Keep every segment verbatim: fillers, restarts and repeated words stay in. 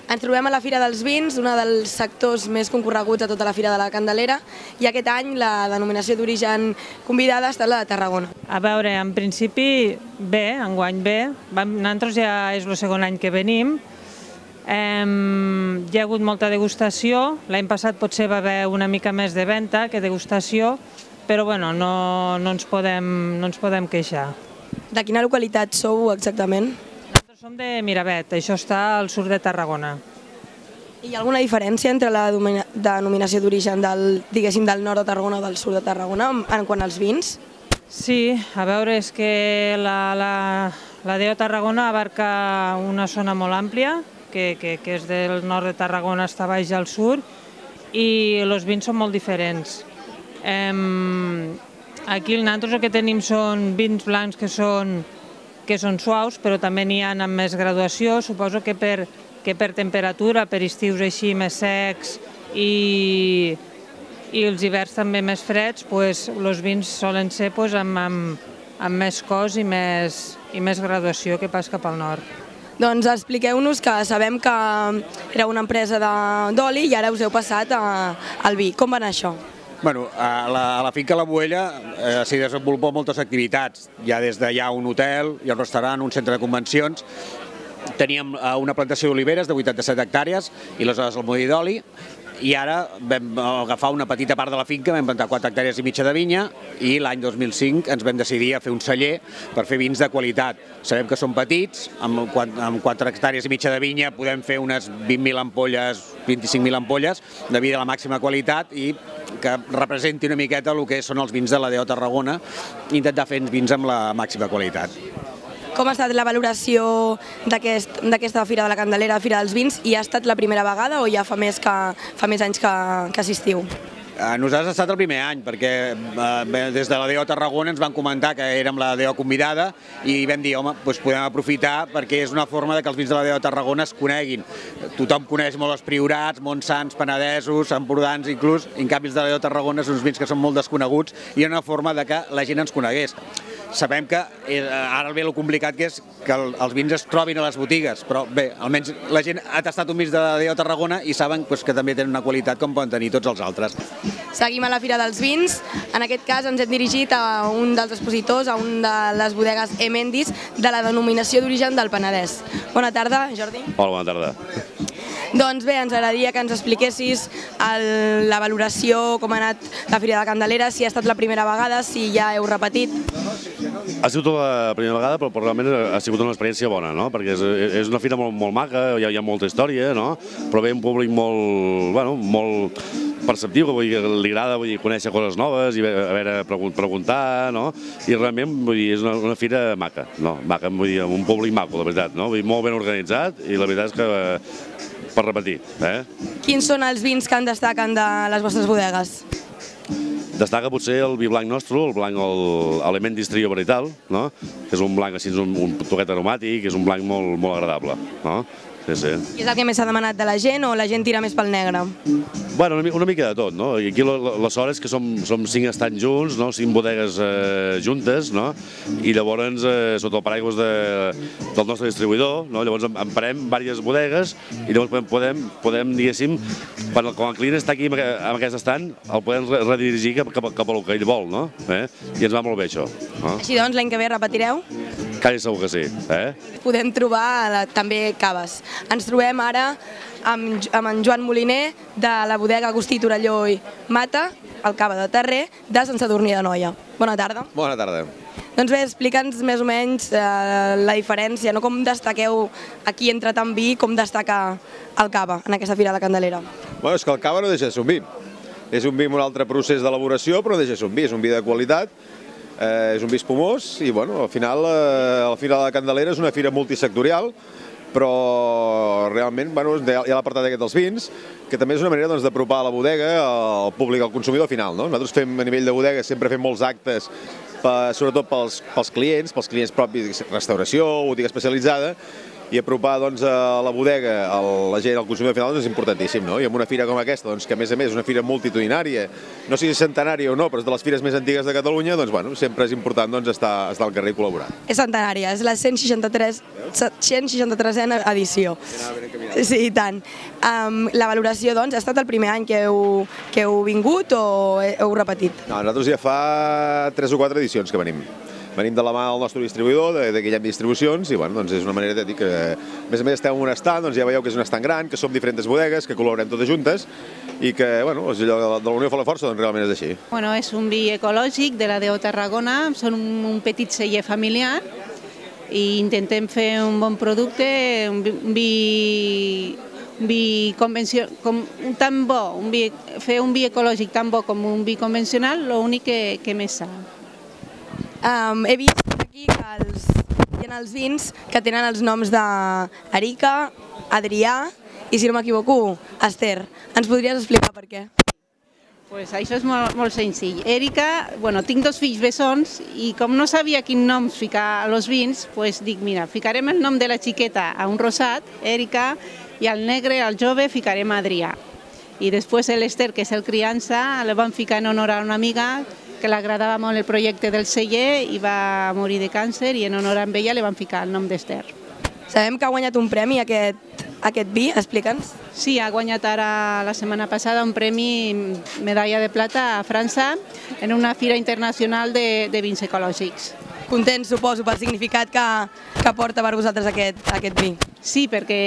Ens trobem a la Fira dels Vins, un dels sectors més concorreguts a tota la Fira de la Candelera, i aquest any la denominació d'origen convidada ha estat la de Tarragona. A veure, en principi bé, enguany bé. Nosaltres ja és el segon any que venim. Hi ha hagut molta degustació. L'any passat potser va haver una mica més de venda que degustació, però bueno, no, no, ens podem, no ens podem queixar. De quina localitat sou exactament? Nosaltres som de Miravet, això està al sud de Tarragona. Hi ha alguna diferència entre la denominació d'origen del, diguéssim, del nord de Tarragona o del sud de Tarragona en quant als vins? Sí, a veure, és que la, la, la D O Tarragona abarca una zona molt àmplia, que, que, que és del nord de Tarragona fins a baix al sud, i els vins són molt diferents. Aquí nosaltres el que tenim són vins blancs que són, que són suaus, però també n'hi ha amb més graduació. Suposo que per, que per temperatura, per estius així més secs i, i els hiverns també més freds, doncs, els vins solen ser doncs, amb, amb, amb més cos i més, i més graduació que pas cap al nord. Doncs expliqueu-nos, que sabem que era una empresa d'oli i ara us heu passat a, al vi. Com va anar això? Bueno, a la, a la finca La Boella eh, s'hi desenvolupó moltes activitats. Hi ha des d'allà un hotel, hi ha un restaurant, un centre de convencions. Teníem eh, una plantació d'oliveres de vuitanta-set hectàrees i aleshores el molí d'oli. I ara vam agafar una petita part de la finca, vam plantar quatre hectàrees i mitja de vinya i l'any dos mil cinc ens vam decidir a fer un celler per fer vins de qualitat. Sabem que són petits, amb quatre hectàrees i mitja de vinya podem fer unes vint mil ampolles, vint-i-cinc mil ampolles de vi de la màxima qualitat i que representi una miqueta el que són els vins de la D O Tarragona i intentar fer vins amb la màxima qualitat. Com ha estat la valoració d'aquesta Fira de la Candelera, Fira dels Vins, i ha estat la primera vegada o ja fa més, que, fa més anys que, que assistiu? Nosaltres ha estat el primer any, perquè eh, des de la D O Tarragona ens van comentar que érem la D O convidada i vam dir, home, doncs podem aprofitar perquè és una forma que els vins de la D O Tarragona es coneguin. Tothom coneix molt els Priorats, Montsants, Penedesos, Empordans inclús, i en canvi els de la D O Tarragona són uns vins que són molt desconeguts i és una forma de que la gent ens conegués. Sabem que ara ve el complicat que és que els vins es trobin a les botigues, però bé, almenys la gent ha tastat un vins de la D O Tarragona i saben que també tenen una qualitat com poden tenir tots els altres. Seguim a la Fira dels Vins. En aquest cas ens hem dirigit a un dels expositors, a un de les bodegues Emendis, de la denominació d'origen del Penedès. Bona tarda, Jordi. Hola, bona tarda. Doncs bé, ens agradaria que ens expliquessis el, la valoració, com ha anat la Fira de la Candelera, si ha estat la primera vegada, si ja heu repetit. Ha sigut la primera vegada, però realment ha sigut una experiència bona, no? Perquè és, és una fira molt, molt maca, hi ha, hi ha molta història, no? Però ve un públic molt, bueno, molt perceptiu, que vull dir, li agrada vull dir, conèixer coses noves i a veure, preguntar, no? I realment vull dir, és una, una fira maca, no? Maca, vull dir, amb un públic maco, la veritat, no? Vull dir, molt ben organitzat i la veritat és que per repetir, eh? Quins són els vins que en destaquen de les vostres bodegues? Destaca potser el vi blanc nostre, el blanc Emendis Trio Verital, no? Que és un blanc així, un, un toquet aromàtic, és un blanc molt, molt agradable, no? Sí, sí. I és el que més s'ha demanat de la gent o la gent tira més pel negre? Bueno, una, una mica de tot, no? I aquí la, la sort és que som, som cinc estants junts, no? Cinc bodegues eh, juntes, no? I llavors, eh, sota el paraigües de, del nostre distribuïdor, no? Llavors emparem diverses bodegues i llavors podem, podem, podem diguéssim, quan el, quan el client està aquí amb, amb aquest estant, el podem redirigir cap, cap, cap al que ell vol, no? Eh? I ens va molt bé això. No? Així doncs, l'any que ve repetireu? Quasi segur que sí. Eh? Podem trobar la, també caves. Ens trobem ara amb, amb en Joan Moliner, de la bodega Agustí Torelló i Mata, el cava de Terrer, de Sant Sadurní d'Anoia. Bona tarda. Bona tarda. Doncs bé, explica'ns més o menys eh, la diferència, no? Com destaqueu aquí entre tant vi, com destaca el cava en aquesta Fira de la Candelera? Bueno, és que el cava no deixa de ser un vi. És un vi amb un altre procés d'elaboració, però no deixa de ser un vi. És un vi de qualitat, eh, és un vi espumós i, bueno, al final, eh, la Fira de la Candelera és una fira multisectorial, però realment bueno, hi ha l'apartat aquest dels vins, que també és una manera doncs, d'apropar la bodega al públic, al consumidor final. No? Nosaltres fem, a nivell de bodega, sempre fem molts actes, per, sobretot pels, pels clients, pels clients propis, restauració, botiga especialitzada, i apropar doncs, a la bodega a la gent, al consumidor final, doncs, és importantíssim, no? I amb una fira com aquesta, doncs, que a més a més és una fira multitudinària, no sé si centenària o no, però és de les fires més antigues de Catalunya, doncs bueno, sempre és important doncs, estar, estar al carrer i col·laborar. És centenària, és la cent seixanta-tresena edició. Sí, i tant. Um, la valoració, doncs, ha estat el primer any que heu, que heu vingut o heu repetit? No, nosaltres ja fa tres o quatre edicions que venim. Venim de la mà del nostre distribuïdor, de, de Guillem Distribucions, i bueno, doncs és una manera de dir que, a més a més, estem en un estand, doncs ja veieu que és un estand gran, que som diferents bodegues, que col·laborem totes juntes, i que, bueno, allò de la unió fa la força, doncs realment és així. Bueno, és un vi ecològic de la D O Tarragona, són un, un petit celler familiar, i intentem fer un bon producte, un vi, un vi convencional, com, tan bo, un vi, fer un vi ecològic tan bo com un vi convencional, l'únic que, que més sa. Um, he vist aquí que els, hi ha els vins que tenen els noms d'Erica, Adrià i, si no m'equivoco, Esther. Ens podries explicar per què? Pues això és molt, molt senzill. Èrica, bueno, tinc dos fills bessons i com no sabia quin nom ficar a los vins, pues dic, mira, ficarem el nom de la xiqueta a un rosat, Èrica, i al negre, al jove, ficarem Adrià. I després l'Esther, que és el criança, la van ficar en honor a una amiga que l'agradava molt el projecte del celler i va morir de càncer i en honor a ella li van ficar el nom d'Esther. Sabem que ha guanyat un premi aquest, aquest vi, explica'ns. Sí, ha guanyat ara la setmana passada un premi medalla de plata a França en una fira internacional de, de vins ecològics. Contents, suposo, pel significat que, que porta per vosaltres aquest, aquest vi. Sí, perquè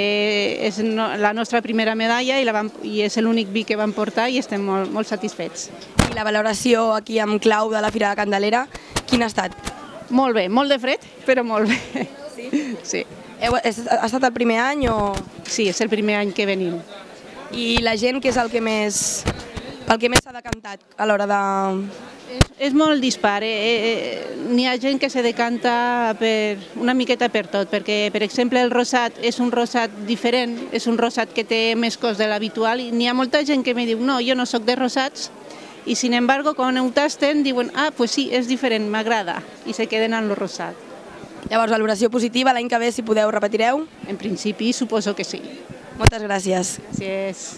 és no, la nostra primera medalla i, la vam, i és l'únic vi que vam portar i estem molt, molt satisfets. I la valoració aquí amb clau de la Fira de Candelera, quina ha estat? Molt bé, molt de fred, però molt bé. Sí? Sí. Heu, és, ha estat el primer any o...? Sí, és el primer any que venim. I la gent, què és el que més, el que més s'ha decantat a l'hora de... És, és molt dispar. Eh? Eh, N'hi ha gent que se decanta per, una miqueta per tot, perquè, per exemple, el rosat és un rosat diferent, és un rosat que té més cos de l'habitual, i n'hi ha molta gent que me diu, no, jo no sóc de rosats, i sin embargo, quan ho tasten, diuen, ah, pues sí, és diferent, m'agrada, i se queden en el rosat. Llavors, valoració positiva, l'any que ve, si podeu, repetireu? En principi, suposo que sí. Moltes gràcies. Gràcies.